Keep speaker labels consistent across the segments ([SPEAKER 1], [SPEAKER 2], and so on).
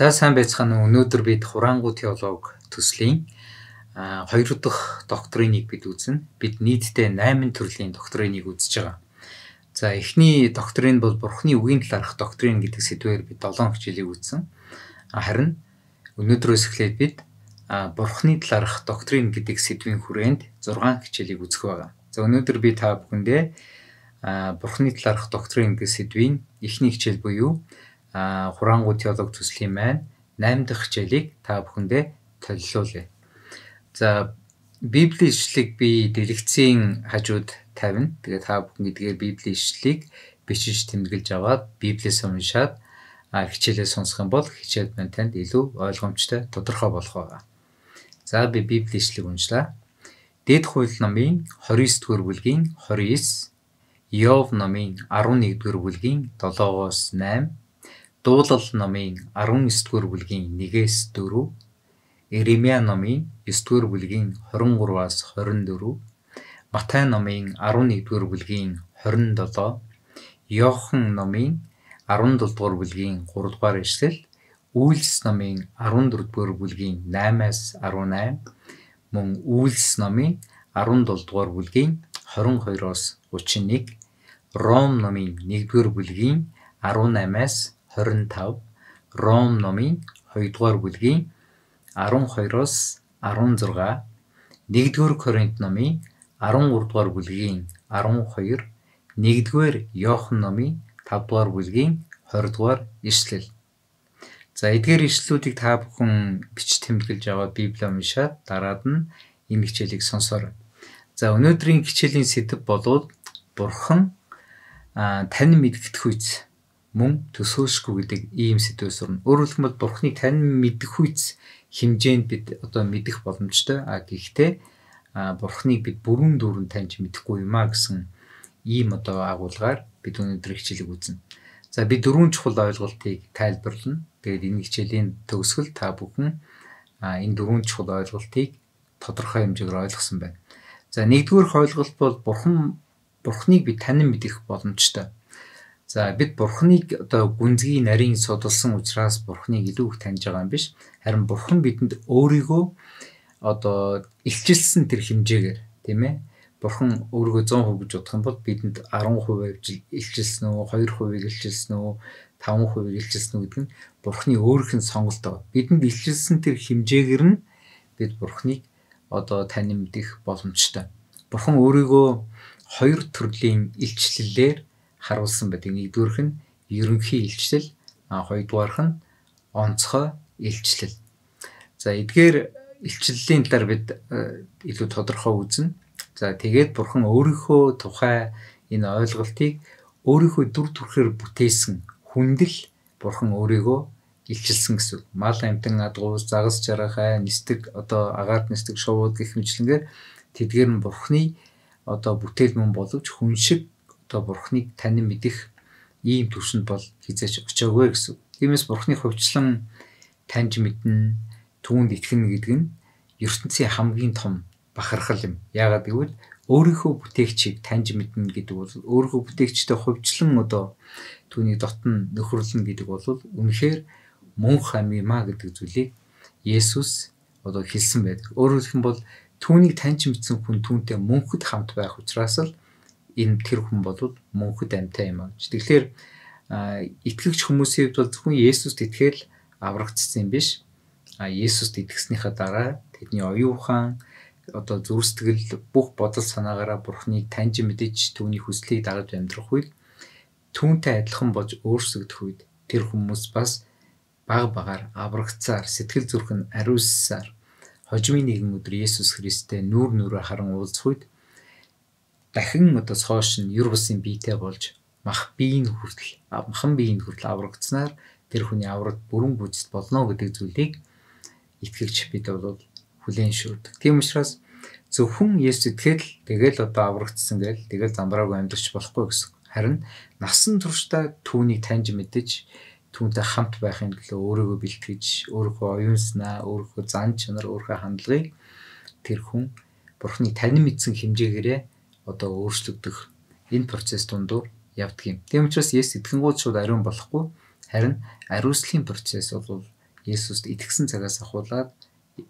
[SPEAKER 1] За сайн байцгаана уу. Өнөөдөр бид хураангуй теолог төслийн 2 дахь доктриныг бид үзнэ. Бид нийтдээ 8 төрлийн доктриныг үзэж байгаа. За эхний доктрин бол Бурхны үгийн талаарх доктрин гэдэг сэдвээр бид 7 хичээлийг үзсэн. Харин өнөөдрөөс эхлээд бид Бурхны талаарх доктрин гэдэг сэдвийн хүрээнд 6 хичээлийг үзэх байгаа. За өнөөдөр би та бүхэндээ Бурхны талаарх доктрин гэдэг сэдвийн эхний хичээл буюу хураангуй теолог төслийн маань 8 дахь хичээлийг та бүхэндээ төлөвлүүлье. За Библийн ишлэлийг би дэлгэцийн хажууд тавина. Тэгээд та бүхэн эдгээр Библийн ишлэлийг бичиж тэмдэглэж аваад Библиэс уншаад хичээлээ сонсох юм бол хичээл маань танд илүү ойлгомжтой, тодорхой болох байгаа. За би Библийн ишлэлийг уншлаа. Дэд хууль номын 29-р бүлгийн 29, Иов номын 11-р бүлгийн 7-оос 8, Дуулал номын 19-р бүлгийн 1-ээс 4, Иремья номын 9-р бүлгийн 23-аас 24, Матай номын 11-р бүлгийн 27, Иохан номын 17-р бүлгийн 3-р эшлэл, Үйлс номын 14-р бүлгийн 8-аас 18, мөн Үйлс номын 17-р бүлгийн 22-оос 31, Ром номын 1-р бүлгийн 18-аас 25, Ром номын 2-р бүлгийн 12-оос 16, 1-р Коринт номын 13-р бүлгийн 12, 1-р Иохан номын 5-р бүлгийн 20-р эшлэл. За эдгээр ишлэлүүдийг та бүхэн бич тэмдэглэж аваад Библийг уншаад дараад нь энэ хичээлийг сонсоорой. За өнөөдрийн хичээлийн сэдэв болвол Бурхан тань мэдгдэх үйс мөн төсөөлшгүй гэдэг ийм сэдвээс орно. Өөрөөр хэлбэл Бурханыг тань мэдэх үйс хэмжээнд бид одоо мэдэх боломжтой. Гэхдээ Бурханыг бид бүрэн дүүрэн таньж мэдэхгүй юм гэсэн ийм одоо агуулгаар бид өнөөдөр хичээлийг үзнэ. За би 4 чухал ойлголтыг тайлбарлана. Тэгээд энэ хичээлийн төгсгөл та бүхэн энэ 4 чухал ойлголтыг тодорхой хэмжээгээр ойлгосон байна. За нэгдүгээр ойлголт бол Бурханыг бид танин мэдэх боломжтой. За бид Бурханыг одоо гүнзгий нарийн судалсан учраас Бурханыг илүү их таньж байгаа юм биш. Харин Бурхан бидэнд өөрийгөө одоо илчилсэн тэр хэмжээгээр, тийм ээ. Бурхан өөрийгөө 100% гэж бодох юм бол бидэнд 10% илчилсэн үү, 2% илчилсэн үү, 5% илчилсэн үү гэдэг нь Бурханы өөрийнх нь сонголт байгаа. Бидэнд илчилсэн тэр хэмжээгээр нь бид Бурханыг одоо танин мэдэх боломжтой. Бурхан өөрийгөө 2 төрлийн илчлэлээр харуулсан байдаг. Нэгдүгээрх нь ерөнхий илчлэл, хоёрдугаарх нь онцгой илчлэл. За эдгээр илчлэлийн талаар бид илүү тодорхой үзнэ. За тэгээд Бурхан өөрийнхөө тухай энэ ойлголтыг өөрийнхөө дүр төрхөөр бүтээсэн хүндэл Бурхан өөрийгөө илчилсэн гэсэн. Мал амтан адгуус, загас жаргахай, нисдэг одоо агаарт нисдэг шувууд гэх мэтлэнгээр тэдгээр нь Бурханы одоо бүтээл мөн боловч хүн шиг одоо Бурханыг танин мэдэх ийм түвшинд бол хизээч очиагүй гэсэн. Тиймээс Бурханыг хувьчлан таньж мэднэ, түүнд итгэнэ гэдэг нь ертөнцийн хамгийн том бахархал юм. Яагаад гэвэл өөрийнхөө бүтээгчийг таньж мэднэ гэдэг бол өөрийнхөө бүтээгчтэй хувьчлан одоо түүний дотн нөхөрлөн гэдэг бол үнэхээр мөнх ам юм а гэдэг зүйлийг Есүс одоо хэлсэн байдаг. Өөрөөр хэлбэл түүнийг таньж мэдсэн хүн түүнтэй мөнхөд хамт байх учраас л энэ тэр хүн бол мөнхөд амьтаа юм аа. Тэгэхээр итгэгч хүмүүсийн хувьд бол зөвхөн Есүст итгэл аврагдсан юм биш. Есүст итгэснийхаа дараа тэдний оюун ухаан одоо зүрх сэтгэл бүх бодол санаагаараа Бурханыг таньж мэдэж түүний хүслийг дагаж амьдрах үед түүнтэй адилхан болж өөрсгөх үед тэр хүмүүс бас баг багаар аврагцаар сэтгэл зүрх нь ариуссаар хожимын нэгэн өдөр Есүс Христтэй нүүр нүрэ харан уулзах үед дахин одоо цоош нь юр бусын биетэй болж махан биеийн хүртэл аврагдсанаар тэр хүний аврагт бүрэн гүйцэд болно гэдэг зүйлийг итгэгч бид бол хүлээн шүрдэг. Тийм учраас зөвхөн Есүс итгэл тэгэл одоо аврагдсан гэл тэгэл замбраагүй амьдрч болохгүй гэсэн. Харин насан туршдаа түүнийг таньж мэдэж түүнтэй хамт байхын төлөө өөрийгөө бэлтгэж, өөрийнхөө оюун санаа, өөрийнхөө зан чанар, өөрийнхөө хандлагыг тэр хүн Бурханыг танин мэдсэн хэмжээгээрээ одоо өөрчлөгдөх энэ процесс дундуур явдаг юм. Тийм учраас Есүс итгэнгууд шууд ариун болохгүй, харин ариуслахын процесс бол Есүст итгэсэн цагаас ахуулаад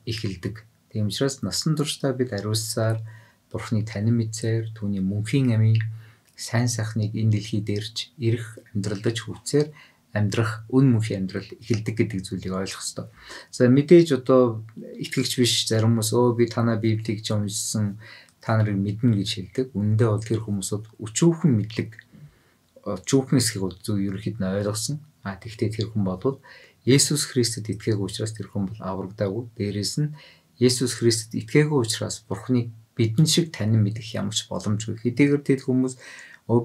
[SPEAKER 1] эхэлдэг. Тийм учраас насан туршдаа бид ариуссаар Бурхныг танин мэдсээр түүний мөнхийн амийн сайн сайхныг энэ дэлхийд ирж ирэх амьдралдаж хүрцээр амьдрах үн мөнхийн амьдрал эхэлдэг гэдэг зүйлийг ойлгох хэрэгтэй. За мэдээж одоо итгэгч биш зарим хүмүүс би танаа Библийг ч уншсан та нарыг мэднэ гэж хэлдэг. Үүндээ бол тэр хүмүүсүүд өчүүхэн мэдлэг өчүүхэн эсхийг бол зөв ерөнхийд нь ойлгосон. Тэгвэл тэр хүн бол Есүс Христэд итгээгүй учраас тэр хүн бол аврагдаагүй. Дээрээс нь Есүс Христэд итгээгүй учраас Бурхныг бидэн шиг танин мэдэх ямар ч боломжгүй. Хэдийгээр тэр хүмүүс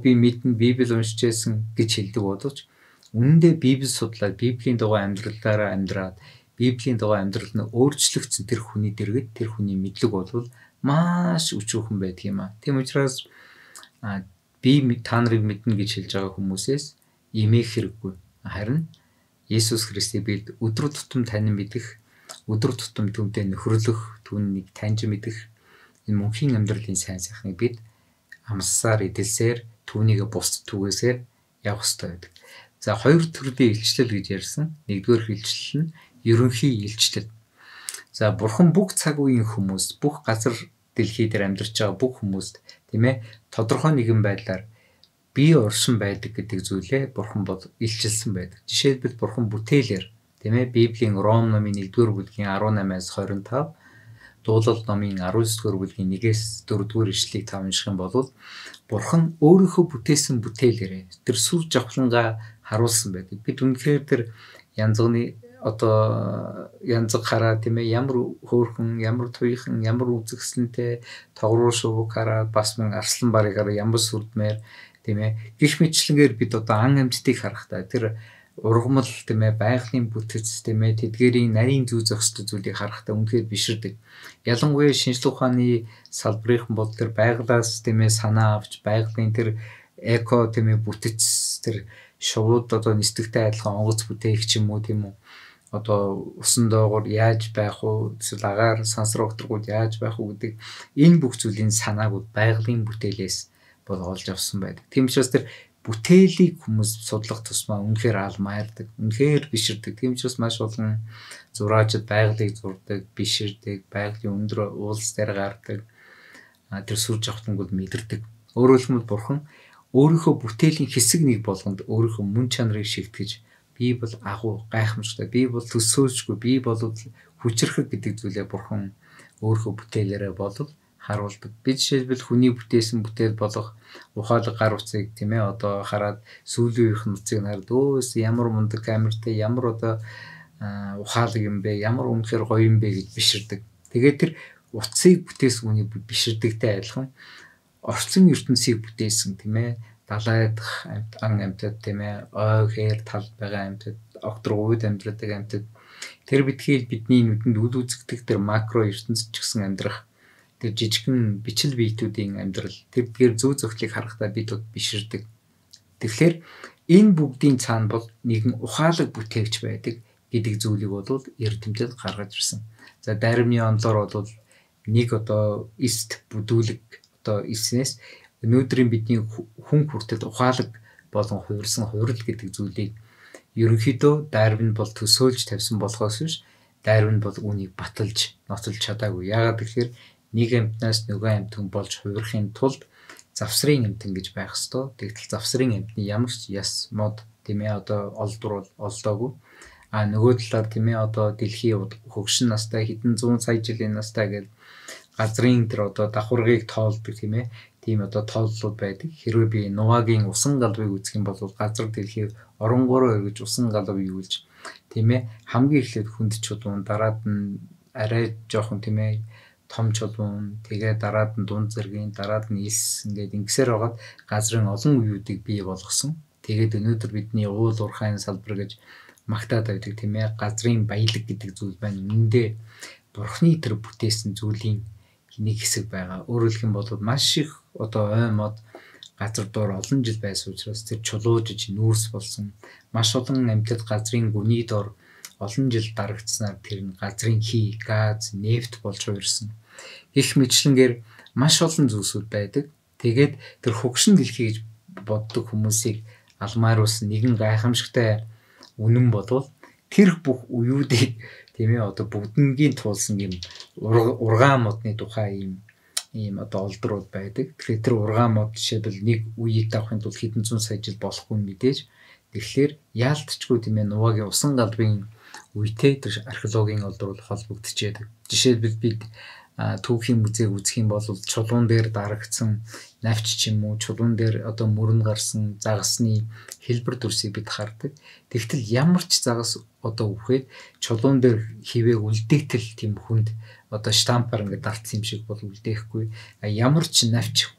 [SPEAKER 1] би мэднэ Библийг уншиж байсан гэж хэлдэг боловч үнэндээ Библийг судлаад Библийн дагуу амьдралаараа амьдраад Библийн дагуу амьдрал нь өөрчлөгдсөн тэр хүний дэргэд тэр хүний мэдлэг бол маш өчүүхэн байдаг юм аа. Тийм учраас би та нарыг мэднэ гэж хэлж байгаа хүмүүсээс имэх хэрэггүй. Харин Есүс Христийг бид өдөр тутам танин мэдэх, өдөр тутам түүнтэй нөхөрлөх, түүнийг таньж мэдэх энэ мөнхийн амьдралын сайн сайхныг бид амссаар эдэлсээр түүнийг бусд түгээсээр явах хэрэгтэй байдаг. За хоёр төрлийн илчлэл гэж ярьсан. Нэгдүгээр илчлэл нь ерөнхий илчлэл. За Бурхан бүх цаг үеийн хүмүүст, бүх газар дэлхий дээр амьдарч байгаа бүх хүмүүст тийм ээ тодорхой нэгэн байдлаар бие оршин байдаг гэдэг зүйлээ Бурхан бол илчилсэн байдаг. Жишээлбэл Бурхан бүтээлээр тийм ээ Библийн Ром номын 1-р бүлгийн 18-аас 25, Дуулал номын 19-р бүлгийн 1-ээс 4-р ишлэлийг та унших юм бол Бурхан өөрийнхөө бүтээсэн бүтээлээрээ тэр сүр жавхлангаа харуулсан байдаг. Бид үнэхээр тэр янзганы янзг хараа тийм ээ ямар хөөрхөн, ямар туйхан, ямар үзэгсэлнтэй тогруу шувууг хараад бас мөн арслан барыг хараа ямар сүрдмээр тийм ээ гих мэтлэнгээр бид ан амьтдыг харахтаа тэр ургамал тийм ээ байгалийн бүтэц тийм ээ тэдгэрийн нарийн зүй зохистой зүйлийг харахтаа үнэхээр биширдэг. Ялангуяа шинжлэх ухааны салбарын бол тэр байгалаас тийм ээ санаа авч байгалийн тэр эко тийм ээ бүтэц тэр шувууд нисдэгтэй адилхан онгоц бүтээгч юм уу тийм үү усан доогоор яаж байх уу эсвэл агаар сансар өгтргүүд яаж байх уу гэдэг энэ бүх зүйлийн санааг байгалийн бүтээлээс бол олж авсан байдаг. Тийм учраас тэр бүтээлийг хүмүүс судлах тусмаа үнэхээр алмаардаг, үнэхээр биширдэг. Тийм учраас маш олон зураачид байгалыг зурдаг, биширдэг, байгалийн өндөр уулс дээр гардаг. Тэр сүр жавхлангууд мэдэрдэг. Өөрөөр хэлбэл Бурхан өөрийнхөө бүтээлийн хэсэг нэг болгонд өөрийнхөө мөн чанарыг шигтгэж би бол агуу гайхамшигтай, би бол төсөөлжгүй, би бол хүчрхэг гэдэг зүйлээ Бурхан өөрийнхөө бүтээлээрээ бол харуулдаг. Би жишээлбэл хүний бүтээсэн бүтээл болох ухаалаг гар утсыг тийм ээ хараад сүүлийн үеийнх нуцыг хараад ямар мундаг камертай, ямар ухаалаг юм бэ, ямар үнэхээр гоё юм бэ гэж биширдэг. Тэгээд тэр утсыг бүтээсэн хүний биширдэгтэй адилхан орчин ертөнцийг бүтээсэн тийм ээ далайдах амьтад тийм ээ ой хээр талд байгаа амьтад огтргууд амьдрадаг амьтад тэр битгийл бидний нүдэнд үл үзэгдэх тэр макро ертөнцид ч гэсэн амьдрах тэр жижигхэн бичил биетүүдийн амьдрал тэр зүй зохилыг харахтаа бид биширдэг. Тэгэхээр энэ бүгдийн цаана бол нэгэн ухаалаг бүтээгч байдаг гэдэг зүйлийг бол эрдэмтэд гаргаж ирсэн. За даримны онлоор бол нэг эст бүдүүлэг эснээс өнөөдрийн бидний хүн хүртэл ухаалаг болон хувирсан хувирал гэдэг зүйлийг ерөнхийдөө Дарвин бол төсөөлж тавьсан болохоос биш Дарвин бол үүнийг баталж ноцолж чадаагүй. Яагаад гэхээр нэг амьтнаас нөгөө амьтан болж хувирахын тулд завсрын амьтан гэж байх ёстой. Тэгтэл завсрын амьтны ямар ч яс мод тийм ээ олдвор олдоогүй. Нөгөө талаар тийм ээ дэлхийн хөгшин настай хэдэн 100 сая жилийн настай гэж газрын тэр давхаргыг тоолдог тийм ээ тийм тооллууд байдаг. Хэрвээ би Нувагийн усан галвыг үзэх юм бол газар дэлхийг оронгороо эргэж усан галв юулж тийм ээ хамгийн эхлээд хүнд чулуун дараад нь арай жоохон тийм ээ том чулуун тэгээ дараад нь дунд зэргийн дараад нь ис ингээд ингэсээр байгаад газрын олон үеүүдийг бий болгосон. Тэгээд өнөөдөр бидний уул уурхайн салбар гэж магтаад байдаг тийм ээ газрын баялаг гэдэг зүйл байна. Үүндээ Бурхны тэр бүтээсэн зүйлийн нэг хэсэг байгаа. Өөрөөр хэлэх юм бол маш их ой мод газар доор олон жил байсан учраас тэр чулуужиж нүүрс болсон. Маш олон амьтад газрын гүний доор олон жил дарагдсанаар тэр нь газрын хий, газ, нефт болж хувирсан. Их мэтлэнгээр маш олон зүйлсүүд байдаг. Тэгээд тэр хөгшин дэлхий гэж боддог хүмүүсийг алмааруулсан нэгэн гайхамшигтай үнэн бодвол тэр бүх уюудыг тийм ээ одоо бүгднгийн туулсан юм ургаан модны тухай ийм одоо олдрууд байдаг. Тэгэхээр тэр ургаан мод жишээлбэл нэг үеийг авахын тулд хэдэн зуун сая жил болохгүй мэдээж. Тэгэхээр яалтчгүй тийм ээ нуваагийн усан галбын үетэй тэр археологийн олдрууд холбогдчихэдэг. Жишээлбэл бид түүхийн музейг үзэх юм бол чулуун дээр дарагдсан навч ч юм уу, чулуун дээр одоо мөрөн гарсан загасны хэлбэр дүрсийг бид хардаг. Тэгтэл ямар ч загас одоо үхээд чулуун дээр хивээ үлдээтэл тийм хүнд одоо штампаар ингээд дартсан юм шиг бол үлдээхгүй. Ямар ч навч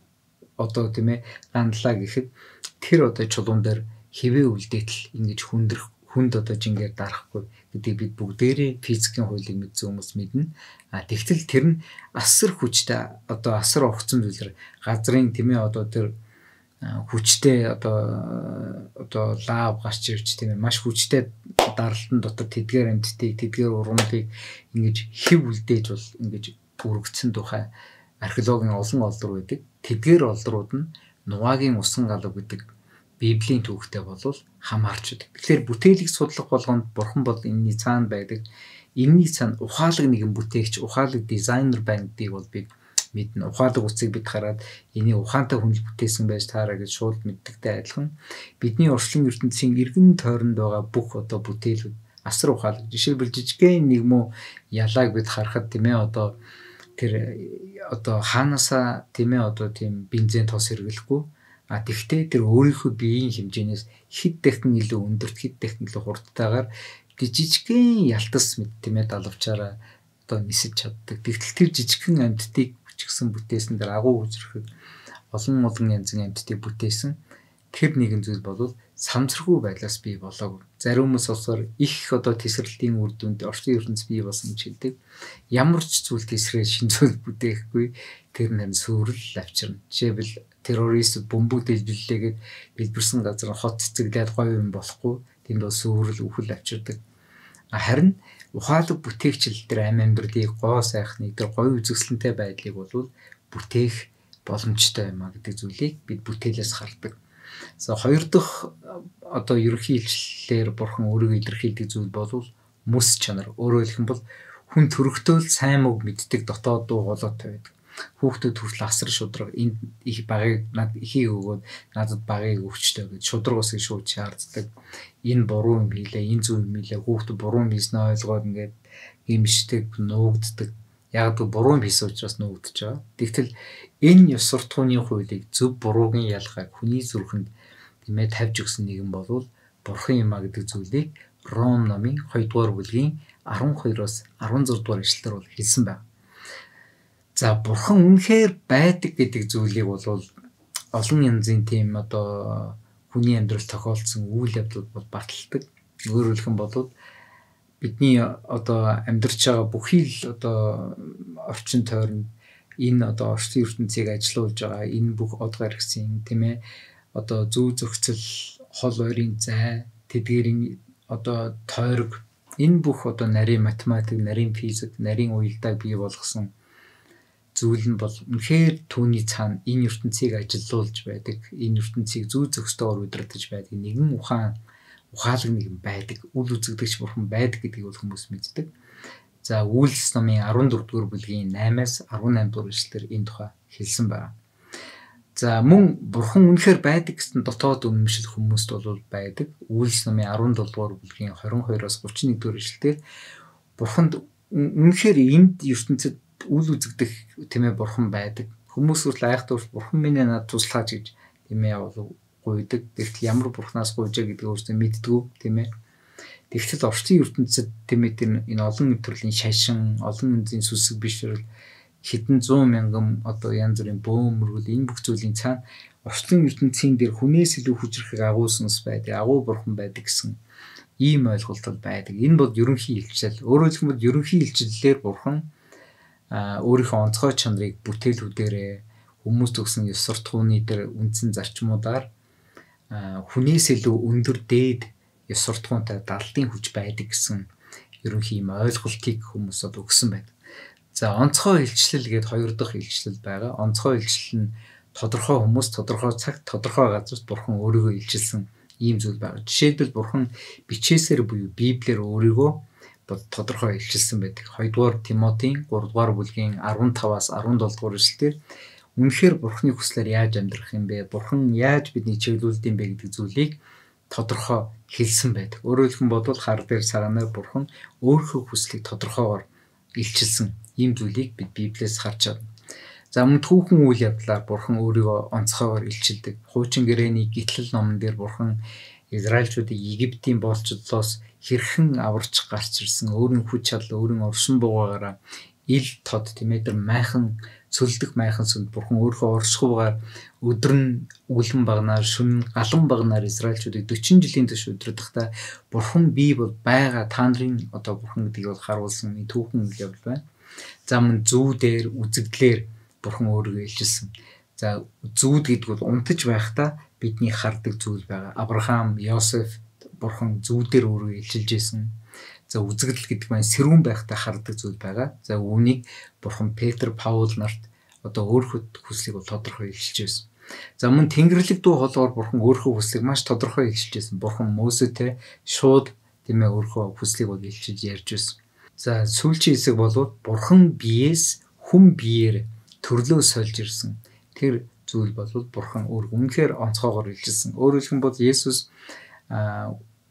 [SPEAKER 1] одоо тийм ээ гандлаа гэхэд тэр одоо чулуун дээр хивээ үлдээтэл ингэж хүнд одоо жингээр дарахгүй гэдэг бид бүгдээрээ физикийн хуулийг мэдсэн хүмүүс мэднэ. Тэгтэл тэр нь асар хүчтэй одоо асар огцон зүйлэр газрын тийм ээ одоо тэр хүчтэй одоо лав гарч ирж тийм ээ маш хүчтэй даралтан дотор тэдгээр амьтдыг тэдгээр ургамлыг ингэж хэв үлдээж бол ингэж бүрэгдсэн тухай археологийн олон олдор байдаг. Тэдгээр олдрууд нь нуваагийн усан галав гэдэг Библийн түүхтэй болвол хамаарч байдаг. Тэгэхээр бүтээлийг судлах болгонд бурхан бол энэний цаана байдаг. Энэний цаана ухаалаг нэгэн бүтээгч, ухаалаг дизайнер байна гэдгийг бол бид мэднэ. Ухаалаг үцгийг бид хараад энийг ухаантай хүн бүтээсэн байж таараа гэж шууд мэддэгтэй адилхан. Бидний орчлон ертөнцийн эргэн тойронд байгаа бүх одоо бүтээлүүд асар ухаалаг. Жишээлбэл жижигхэн нэг муу ялааг бид харахад тийм ээ одоо тэр одоо хаанасаа тийм ээ одоо тийм бензин тос хэрэглэхгүй. Тэгвэл тэр өөрийнхөө биеийн хэмжээнээс хэд дахин илүү өндөрт, хэд дахин илүү хурдтайгаар жижигхэн ялтас мэд тийм ээ далавчаараа одоо нисэж чаддаг. Тэгтэл тэр жижигхэн амьтдыг хүчгсэн бүтээсэн тэр агуу хүчрэхэд олон янзын амьтдыг бүтээсэн тэр нэгэн зүйл бол самсаргүй байдлаас бий болоогүй. Зарим хүмүүс болохоор их одоо тесрэлтийн үр дүнд орчин ертөнц бий болсон гэж хэлдэг. Ямар ч зүйл тесрээ шин зүйл бүтээхгүй тэр нь сүрэл авчирна. Жишээлбэл террорист бомбууд дэлбэллээгээд дэлбэрсэн газар хот цэцэглээд гоё юм болохгүй. Тэнд бол сүрэл үхэл авчирдаг. Харин ухаалаг бүтээгчл тэр амьдралыг гоо сайхныг тэр гоё үзэсгэлэнтэй байдлыг бол бүтээх боломжтой юм а гэдэг зүйлийг бид бүтээлээс хардаг. За хоёр дахь одоо ерөнхий илчлэлээр бурхан өөрийгөө илэрхийлдэг зүйл бол мэс чанар. Өөрөөр хэлбэл хүн төрөхтөө сайн мөг мэддэг дотоод дуу хоолойтой байдаг. Хүүхдүүд хүртэл асар шудраг энэ их багыг над ихийг өгөөд надад багыг өгчтэй гэж шудраг усыг шууд шаарддаг. Энэ буруу юм хийлээ, энэ зөв юм хийлээ. Хүүхдүүд буруу юм хийснэ ойлгоод ингээд гимшдэг, нуугддаг. Яг л буруу юм хийсэн учраас нуугдж байгаа. Тэгтэл энэ ёс суртахууны хуулийг зөв буруугийн ялгааг хүний зүрхэнд тэмээ тавьж өгсөн нэгэн бол бурхан юм а гэдэг зүйлийг Ром номын 2 дугаар бүлгийн 12-оос 16 дугаар ишлэлээр бол хэлсэн байна. За бурхан үнэхээр байдаг гэдэг зүйлийг бол олон янзын тийм одоо хүний амьдрал тохиолдсон үйл явдлууд бол баталдаг. Өөрөөр хэлбэл бидний одоо амьдарч байгаа бүхий л одоо орчин тойронд энэ одоо орчин ертөнцийг ажилуулж байгаа энэ бүх од гаргсан тийм ээ одоо зүү зохицол хол ойрын зай тэдгэрийн одоо тойрог энэ бүх одоо нарийн математик, нарийн физик, нарийн уялдааг бий болгосон зүйл нь бол үнэхээр түүний цаана энэ ертөнцийг ажилуулж байдаг, энэ ертөнцийг зүү зохистойгоор удирдах байдаг нэгэн ухаалаг нэгэн байдаг, үл үзэгдэгч бурхан байдаг гэдгийг бол хүмүүс мэддэг. За Үйлс номын 14 дугаар бүлгийн 8-аас 18 дугаар ишлэлээр энэ тухай хэлсэн байна. За мөн бурхан үнэхээр байдаг гэсэн дотоод үнэмшил хүмүүст бол байдаг. Үйлс номын 17 дугаар бүлгийн 22-оос 31 дугаар ишлэлээр бурханд үнэхээр энд ертөнцид үл үзэгдэх тийм ээ бурхан байдаг. Хүмүүс хүртэл айхтар бурхан минь надад туслаач гэж тийм ээ гуйдаг. Тэгтэл ямар бурханаас гуйжаа гэдгийг өөрсдөө мэддэггүй тийм ээ. Тэгтэл орчин ертөнцид тийм ээ энэ олон төрлийн шашин, олон янзын сүсэг бишрэл хэдэн 100 мянган одоо янз бүрийн бөөмөргөл энэ бүх зүйлийн цаана орчин ертөнцийн дээр хүнээс илүү хүчрэхийг агуулсанс байдаг, агуу бурхан байдаг гэсэн ийм ойлголт байдаг. Энэ бол ерөнхий илчил. Өөрөөр хэлбэл ерөнхий илчиллээр бурхан өөрийнхөө онцгой чанарыг бүтээлүүдээрээ хүмүүст өгсөн ёс суртахууны дээр үндсэн зарчмуудаар хүнээс илүү өндөр дээд ёс суртахуунтай далдын хүч байдаг гэсэн ерөнхий юм ойлголтыг хүмүүс өгсөн байдаг. За онцгой илчлэл гээд хоёр дахь илчлэл байгаа. Онцгой илчлэл нь тодорхой хүмүүс, тодорхой цагт, тодорхой газарт бурхан өөрийгөө илчилсэн ийм зүйл байгаа. Жишээлбэл Бурхан бичээсээр буюу Библиэр өөрийгөө тодорхой илчилсэн байдаг. 2 дугаар Тимотийн 3 дугаар бүлгийн 15-аас 17 дугаар эшлэлээр үнэхээр Бурханы хүслээр яаж амьдрах юм бэ? Бурхан яаж бидний чиглүүлдэм бэ гэдэг зүйлийг тодорхой хэлсэн байдаг. Өөрөөр хэлбэл хар дээр саганаар Бурхан өөрийнхөө хүслийг тодорхойгоор илчилсэн ийм зүйлийг бид Библиэс харж байна. За мөн түүхэн үйл явдлаар Бурхан өөрийгөө онцгойгоор илчилдэг. Хуучин гэрээний гитлэл номон дээр Бурхан Израильчуудыг Египтийн болцодлоос хэрхэн аварч гарч ирсэн, өөрийн хүч чадал, өөрийн оршин буугаараа ил тод тэр майхан цөлдөх майхан сүнд Бурхан өөрийнхөө оршихуйгаар өдөр нь үлэн багнаар, шөнө нь галан багнаар Израильчуудыг 40 жилийн турш удирдахдаа Бурхан бий бол байгаа, та нарын Бурхан гэдгийг бол харуулсан түүхэн үйл явдал байна. За мөн зүүдээр, үзэгдлэр Бурхан өөрийгөө илчилсэн. За зүүд гэдэг бол унтаж байхдаа бидний хардаг зүйл байгаа. Авраам, Йосеф Бурхан зүүдээр өөрийгөө илчилж байсан. За үзэгдэл гэдэг маань сэрүүн байхдаа хардаг зүйл байгаа. За үүнийг Бурхан Петр, Паул нарт өөрийнхөө хүслийг бол тодорхой илчилж байсан. За мөн Тэнгэрлэг дуу хоолойгоор Бурхан өөрийнхөө хүслийг маш тодорхой илчилж байсан. Бурхан Мосетэй шууд өөрийнхөө хүслийг бол илчилж ярьж байсан. За сүүлчийн хэсэг бол Бурхан биеэс хүн биеэр төрлөө сольж ирсэн. Тэр зүйл бол Бурхан үнэхээр онцгойгоор илчилсэн. Өөрөөр хэлбэл Есүс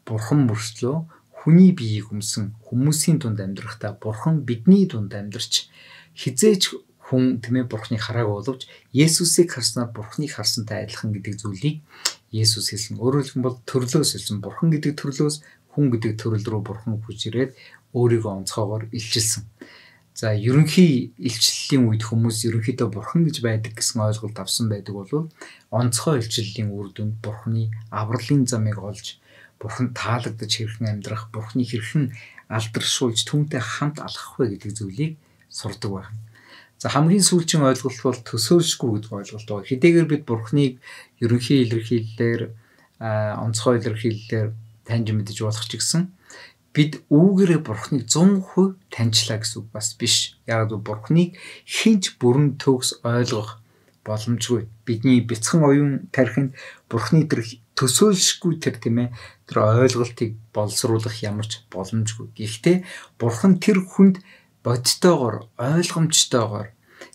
[SPEAKER 1] Бурхан мөртлөө хүний биеийг өмсөн хүмүүсийн дунд амьдрахдаа Бурхан бидний дунд амьдарч хизээж хүн Бурханыг хараагүй боловч Есүсийг харснаар Бурханыг харсантай адилхан гэдэг зүйлийг Есүс хэлсэн. Өөрөөр хэлбэл төрлөөс хэлсэн. Бурхан гэдэг төрлөөс хүн гэдэг төрөл рүү Бурхан хүч ирээд өөрийгөө онцгойгоор илчилсэн. За ерөнхий илчлэлийн үед хүмүүс ерөнхийдөө Бурхан гэж байдаг гэсэн ойлголт авсан байдаг бол онцгой илчлэлийн үр дүнд Бурханы авралын замыг олж Бурхан таалагдж хэрхэн амьдрах, Бурханыг хэрхэн алдаршуулж түүнтэй хамт алхах вэ гэдэг зүйлийг сурдаг байна. За хамгийн сүүлчийн ойлголт бол төсөөлшгүй гэдэг ойлголт байна. Хэдийгээр бид Бурханыг ерөнхий илэрхийлэлээр онцгой илэрхийлэлээр таньж мэдэж болох ч гэсэн бид үүгээрээ Бурханыг 100% таньчлаа гэсэн үг бас биш. Яг л Бурханыг хинч бүрэн төгс ойлгох боломжгүй. Бидний бяцхан оюун тархинд Бурханы тэр төсөөлшгүй тэр ойлголтыг боловсруулах ямарч боломжгүй. Гэхдээ Бурхан тэр хүнд бодтойгоор, ойлгомжтойгоор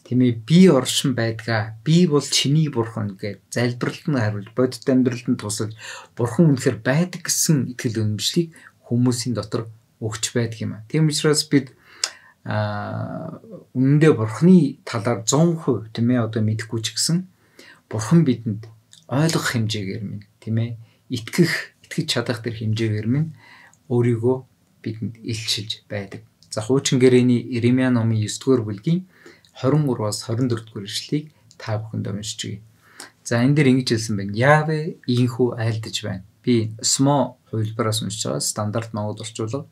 [SPEAKER 1] бие оршин байдгаа. Би бол чиний Бурхан гэж залбиралд нь хариулж, бодит амьдралд нь тусалж, Бурхан үнэхээр байдаг гэсэн итгэл үнэмшлийг хүмүүсийн дотор өгч байдаг юм аа. Тийм учраас бид үнэндээ Бурханы талаар 100% мэдэхгүй ч гэсэн Бурхан бидэнд ойлгох хэмжээгээр минь итгэж чадах тэр хэмжээгээр минь өөрийгөө бидэнд илчилж байдаг. За хуучин гэрээний Иремья номын 9-р бүлгийн 23-аас 24-р эшлэлийг та бүхэнд уншиж. За энэ дээр ингэж хэлсэн байна. Яавэ ийхүү айлдаж байна. Би СМО хувилбараас уншиж байгаа стандарт Монгол орчуулга.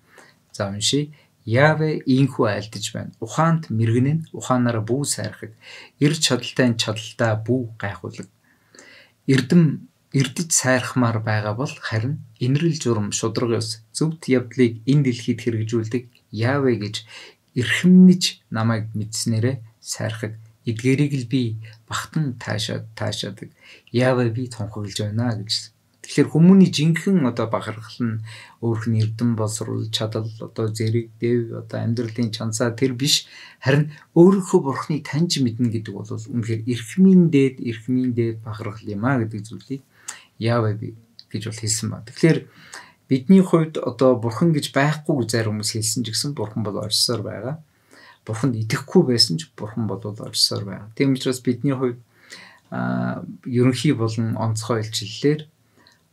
[SPEAKER 1] За уншия. Яавэ ийхүү айлдаж байна. Ухаанд мэрэгнэн ухаанаараа бүү сайрхаг. Эр чадaltaй чадaltaа бүү гайхуулаг. Эрдэж сайрхмаар байгаа бол харин инрэл журам шудраг ёс зөвхт явдлыг энэ дэлхийд хэрэгжүүлдэг Яавэ гэж эрхэмнэж намайг мэдснээрээ сайрхаг. Эдгээрийг л би багтан таашаадаг. Яавэ би тунхаглаж байна гэж. Тэгэхээр хүмүүний жинхэнэ бахархал нь өөрх нь эрдэм боловсрол, чадал, зэрэг, дэв, амьдралын чансаа тэр биш. Харин өөрийнхөө Бурханыг таньж мэднэ гэдэг бол үнэхээр эрхмийн дээд бахархал юм а гэдэг зүйлийг Яавэ гэж бол хэлсэн ба. Тэгэхээр бидний хувьд Бурхан гэж байхгүй зарим хүмүүс хэлсэн ч гэсэн Бурхан бол оршсоор байгаа. Бурханд итгэхгүй байсан ч Бурхан бол оршсоор байгаа. Тийм учраас бидний хувьд ерөнхий болон онцгой илчлэлээр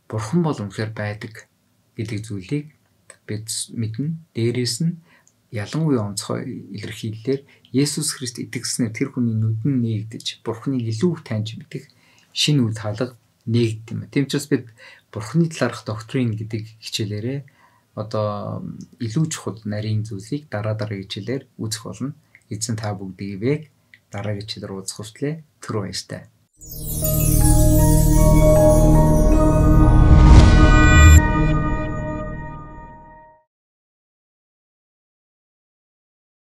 [SPEAKER 1] Бурхан бол үнэхээр байдаг гэдэг зүйлийг бид мэднэ. Дээрээс нь ялангуяа онцгой илэрхийлэлээр Есүс Христ итгэснээр тэр хүний нүдэн нээгдэж Бурханыг илүү таньж мэдэх шинэ үйл хаалга нээгдэв юм. Тийм учраас бид Бурханы талаарх доктрин гэдэг хичээлээрээ илүү чухал нарийн зүйлийг дараа хичээлээр үзэх болно. Эзэн та бүгдийг дараагийн хичээлээр уулзах хүртлээр түр баяртай.